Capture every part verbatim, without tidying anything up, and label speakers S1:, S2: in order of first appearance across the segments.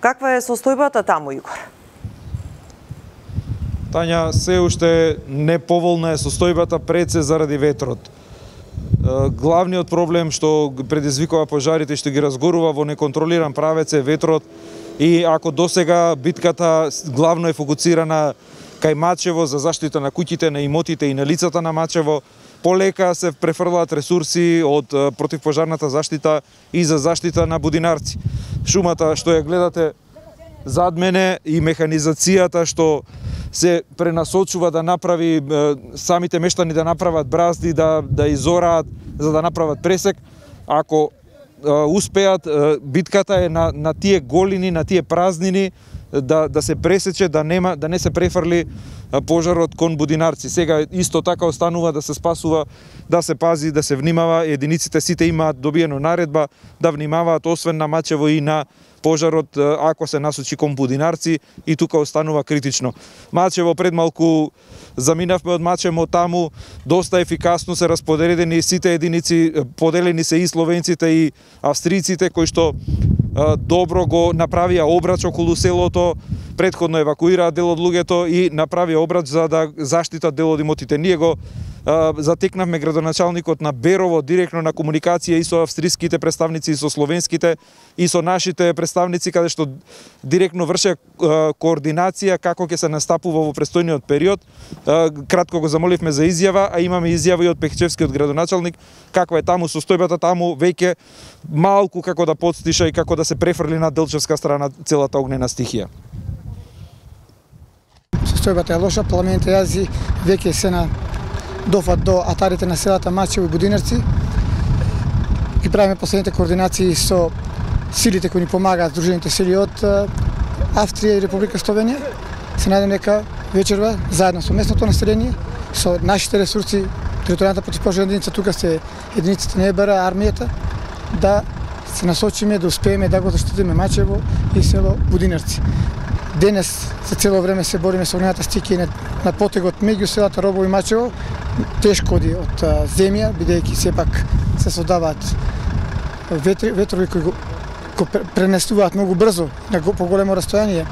S1: Каква е состојбата таму, Игор?
S2: Тања, се уште неповолна е состојбата пред се заради ветрот. Главниот проблем што предизвикува пожарите и што ги разгорува во неконтролиран правец е ветрот, и ако досега битката главно е фокусирана кај Мачево за заштита на куќите, на имотите и на лицата на Мачево, полека се префрлаат ресурси од противпожарната заштита и за заштита на Будинарци. Шумата што ја гледате зад мене и механизацијата што се пренасочува да направи самите мештани да направат бразди, да да изораат за да направат пресек. Ако успеат, битката е на на тие голини, на тие празнини да да се пресече, да нема да не се префрли пожарот кон Будинарци. Сега исто така останува да се спасува, да се пази, да се внимава. Единиците сите имаат добиено наредба да внимаваат освен на Мачево и на пожарот ако се насочи кон Будинарци, и тука останува критично. Мачево пред малку заминавме од Мачево таму, доста ефикасно се расподелени сите единици, поделени се и словенците и австријците кои што добро го направија обрач околу селото, претходно евакуираа дел од луѓето и направија обрач за да заштитат дел од имотите. Ние го затекнавме градоначалникот на Берово директно на комуникација и со австриските представници, и со словенските, и со нашите представници, каде што директно врше координација како ќе се настапува во престојниот период. Кратко го замоливме за изјава, а имаме изјава и од Пехчевскиот градоначалник, каква е таму состојбата. Таму веќе малку како да подстиша и како да се префрли на Делчевска страна целата огнена стихија.
S3: Состојбата е лоша, пламените јази веќе се на дофат до атарите на селата Мачево и Будинарци. Ги правиме последните координации со силите кои ни помагаат, Сдружените сили од Австрија и Република Словенија. Се надам дека вечерва заедно со местното население, со нашите ресурси, територијалната противпожарна единица, тука се единиците на ЕБР, армијата, да се насочиме, да успееме да го заштитиме Мачево и село Будинарци. Денес за цело време се бориме со огнената стихија на, на потегот меѓу селата Робово и Мачево. Тешко оди од а, земја, бидејќи сепак се создаваат ветри, ветрови кои го, го пренесуваат многу брзо на по големо растојание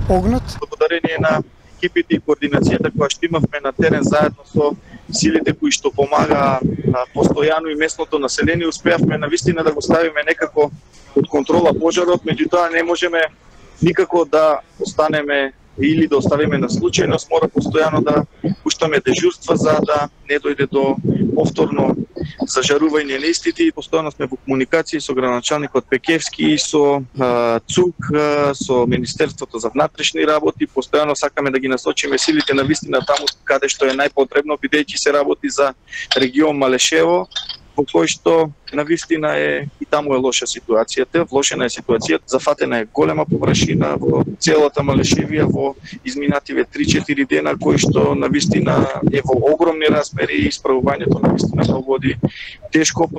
S3: огнот.
S4: Благодарение на екипите и координацијата која што имавме на терен заедно со силите кои што помагаа постојано и местното население, успеавме навистина да го ставиме некако од контрола пожарот, меѓутоа не можеме никако да останеме или да оставиме на случајност, мора постојано да пуштаме дежурства за да не дојде до повторно зажарување на истите, и постојано сме во комуникација со градоначалникот Пекевски и со а, ЦУК, а, со Министерството за внатрешни работи. Постојано сакаме да ги насочиме силите на вистина таму каде што е најпотребно, бидејќи се работи за регион Малешево, во кој што навистина е и таму е лоша ситуацијата, влошена е ситуацијата, зафатена е голема површина во целата Малешевија во изминативе три-четири дена, кој што навистина е во огромни размери и исправувањето навистина се води тешко.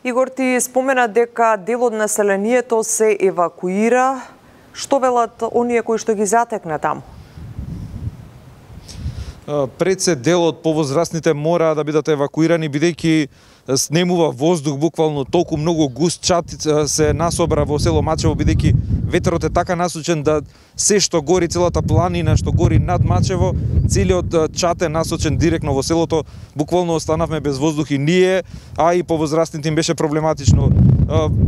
S1: Игор, ти спомена дека дел од населението се евакуира. Што велат оние кои што ги затекна таму?
S2: Пред се дел од повозрастните мора да бидат евакуирани, бидејќи снемува воздух буквално толку многу густ чат се насобра во село Мачево, бидејќи ветрот е така насочен да се што гори, целата планина што гори над Мачево, целиот чат е насочен директно во селото. Буквално останавме без воздух и ние, а и повозрастните им беше проблематично.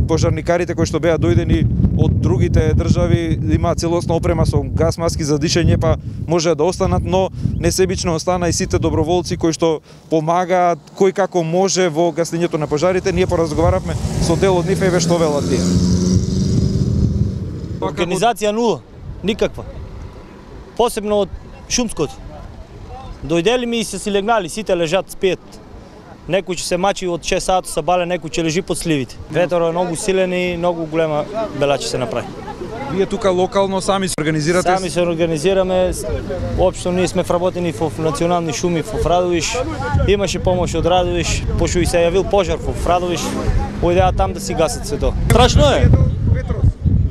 S2: Пожарникарите кои што беа дојдени од другите држави имаат целосна опрема со газ маски за дишење, па може да останат, но несебично остана и сите доброволци кои што помагаат кој како може во гаснењето на пожарите. Ние поразговаравме со дел од нив, еве што велат тие.
S5: Организација нула, никаква. Посебно од шумското. Дојдели ми и се си легнали, сите лежат, спиет. Некој ќе се мачи од шест сати са бале, некој ќе лежи под сливите. Ветерот е многу силен и многу голема бела ќе се направи.
S2: Вие тука локално сами се организирате?
S5: Сами се организираме. Општо ние сме вработени во национални шуми во Радовиш. Имаше помош од Радовиш, пошто и се јавил пожар во Радовиш. Појдеа там да си гасат се тоа. Страшно е.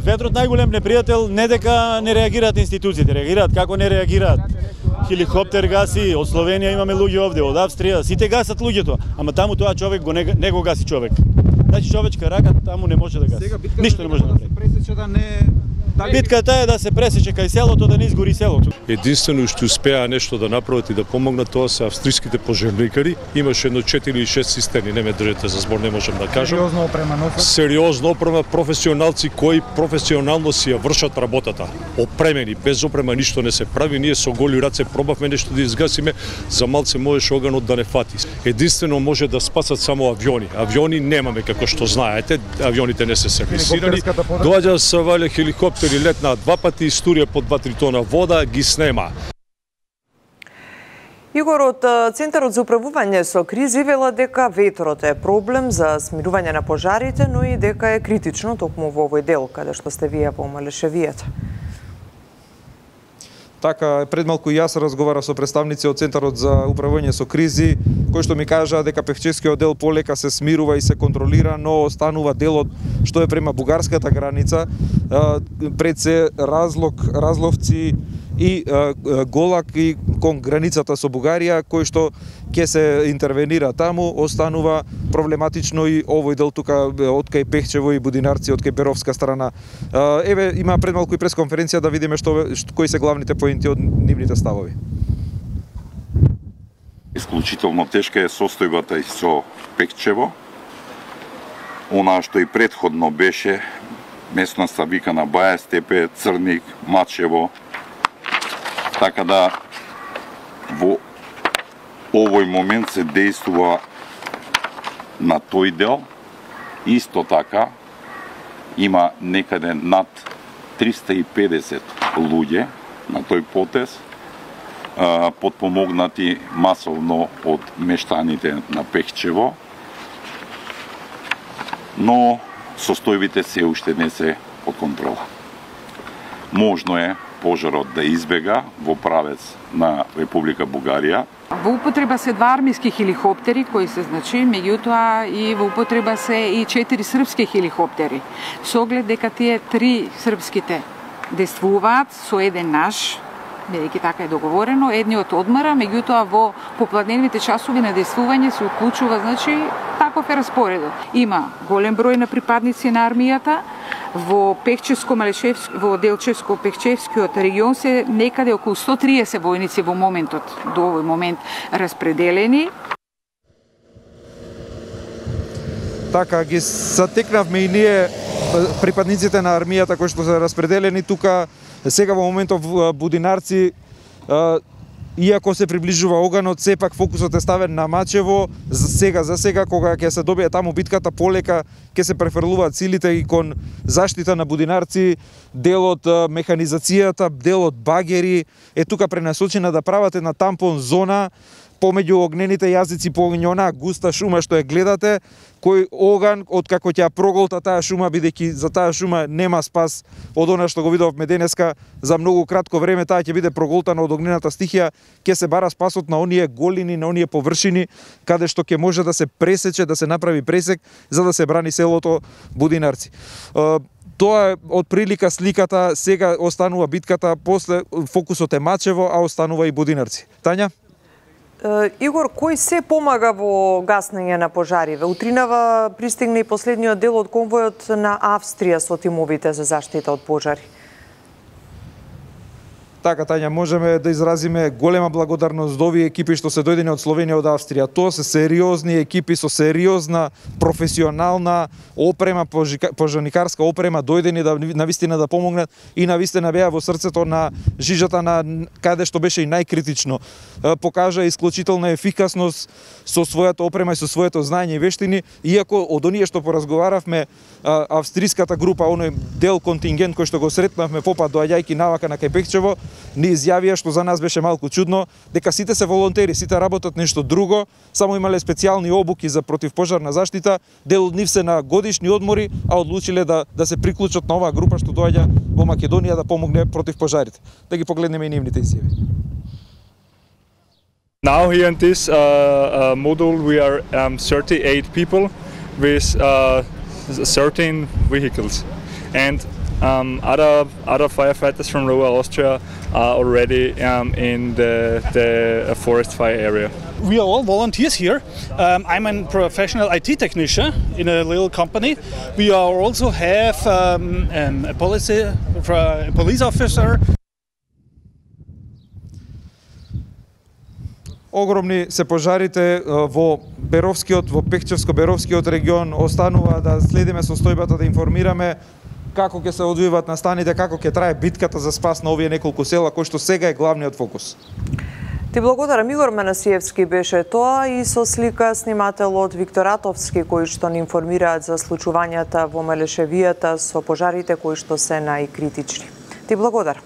S5: Ветрот најголем непријател, не дека не реагираат институциите, реагираат како не реагираат. Хеликоптер гаси, од Словенија имаме луѓе овде, од Австрија, сите гасат луѓето, ама таму тоа човек го не, не го гаси човек. Значи човечка рака таму не може да гаси. Ништо не може да направи.
S2: Пресече да не
S5: Битката е да се пресече кај селото, да не изгори селото.
S6: Единствено што успеа нешто да направат и да помогнат, тоа се австриските пожарникари. Имаше едно четири или шест цистерни, не ме држете за збор, не можам да кажам.
S2: Сериозно опрема, нофа.
S6: Сериозно опрема, професионалци кои професионално си ја вршат работата. Опремени, без опрема ништо не се прави. Ние со голи раце пробавме нешто да изгасиме, за малце можеше оганот да не фати. Единствено може да спасат само авиони. Авиони немаме, како што знаете, авионите не се сервисирани. Доаѓа се вале хеликоптер и летна два пати, историја по два-три тона вода, ги снема.
S1: Игор, од Центарот за управување со кризи вела дека ветрот е проблем за смирување на пожарите, но и дека е критично токму во овој дел, каде што сте вие по Малешевијата.
S2: Така, пред малку јас разговара со представници од Центарот за управување со кризи, кои што ми кажаа дека Пехчевскиот дел полека се смирува и се контролира, но останува делот што е према бугарската граница, пред се Разлог, Разловци и Голак и кон границата со Бугарија, кој што ќе се интервенира таму, останува проблематично и овој дел тука од кај Пехчево и Будинарци, од кај Беровска страна. Еве, има пред малку и пресконференција да видиме што, кои се главните поинти од нивните ставови.
S7: Исклучително тешка е состојбата и со Пехчево. Она што и претходно беше местноста викана Баја Степе, Црник, Мачево. Така да во овој момент се действува на тој дел. Исто така има некаде над триста и педесет луѓе на тој потез, подпомогнати масовно од мештаните на Пехчево, но состојбите се уште не се под контрола. Можно е пожарот да избега во правец на Република Бугарија.
S8: Во употреба се два армиски хеликоптери кои се значи, меѓутоа и во употреба се и четири српски хеликоптери. Со оглед дека тие три српските действуваат со еден наш, бидејќи така е договорено, едниот одмара, меѓутоа во попладневните часови на действување се уклучува, значи, таков е распоредот. Има голем број на припадници на армијата, во Пехчевско-Малешевско, во Делчевско-Пехчевскиот регион се некаде околу сто и триесет војници во моментот, до овој момент распределени.
S2: Така, ги затекнавме и ние припадниците на армијата кои што се распределени тука. Сега во моментов Будинарци, иако се приближува оганот, сепак фокусот е ставен на Мачево. За сега, за сега, кога ќе се добие таму битката, полека ќе се префрлуваат силите и кон заштита на Будинарци, делот механизацијата, делот багери е тука пренасочена да прават една тампон зона помеѓу огнените јазици по онаа густа шума што ја гледате, кој оган откако ќе ја проголта таа шума, бидејќи за таа шума нема спас од она што го видовме денеска, за многу кратко време таа ќе биде проголтана од огнената стихија, ќе се бара спасот на оние голини, на оние површини каде што ќе може да се пресече, да се направи пресек за да се брани селото Будинарци. Тоа е од прилика сликата, сега останува битката, после фокусот е Мачево, а останува и Будинарци. Тања?
S1: Игор, кој се помага во гаснење на пожариве? Утринава пристигна и последниот дел од конвојот на Австрија со тимовите за заштита од пожари.
S2: Така, Тања, можеме да изразиме голема благодарност до овие екипи што се дојдени од Словенија, од Австрија. Тоа се сериозни екипи со сериозна, професионална опрема, пожарникарска опрема, дојдени да навистина да помогнат и навистина беа во срцето на жижата на каде што беше и најкритично. Покажа исклучителна ефикасност со својата опрема и со своето знаење и вештини, иако од оние што поразговаравме, австриската група, оној дел контингент кој што го сретнавме попат доаѓајќи навака на кај Пехчево, ни изјавија, што за нас беше малку чудно, дека сите се волонтери, сите работат нешто друго, само имале специјални обуки за противпожарна заштита, дел од нив се на годишни одмори, а одлучиле да да се приклучат на оваа група што доаѓа во Македонија да помогне против пожарите. Да ги погледнеме и нивните изјави.
S9: Now here in this uh, uh, module we are um, thirty-eight people with uh, thirteen vehicles, and um, other other firefighters from Lower Austria are already um, in the the forest fire area.
S10: we are all volunteers here. Um, I'm a professional I T technician in a little company. We are also have um, um, a policy, a police officer.
S2: Огромни се пожарите во Беровскиот, во Пехчевско-Беровскиот регион. Останува да следиме состојбата, да информираме како ќе се одвиваат настаните, како ќе трае битката за спас на овие неколку села, кој што сега е главниот фокус.
S1: Ти благодарам, Игор Манасиевски беше тоа, и со слика снимателот Виктор Атовски, кои што ни информираат за случувањата во Мелешевијата со пожарите кои што се најкритични. Ти благодарам.